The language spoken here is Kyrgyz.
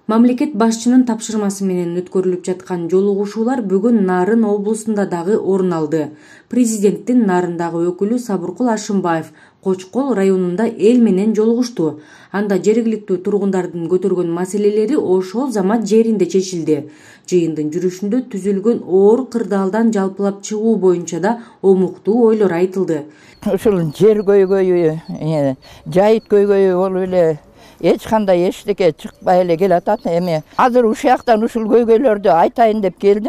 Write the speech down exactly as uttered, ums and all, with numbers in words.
Мамлекет башчынын тапшырмасы менен өткөрүлүп жаткан жолугушуулар бүгүн Нарын облусунда дагы орун алды. Президенттин Нарындагы өкүлү Сабыркул Ашымбаев Кочкол районунда эл менен жолугушту. Анда жергиликтүү тургундардын көтөргөн маселелери ошол замат жеринде чечилди. Жыйындын жүрүшүндө түзүлгөн оор кырдаалдан жалпылап чыгуу боюнча да омуктуу ойлор айтылды. Ушул жер көйгөйү, жайыт көйгөйү болуп эле эч кандай эчтеке чыкпай эле келатат. Эми азыр ушул жактан ушул көйгөйлөрдү айтайын деп келдим.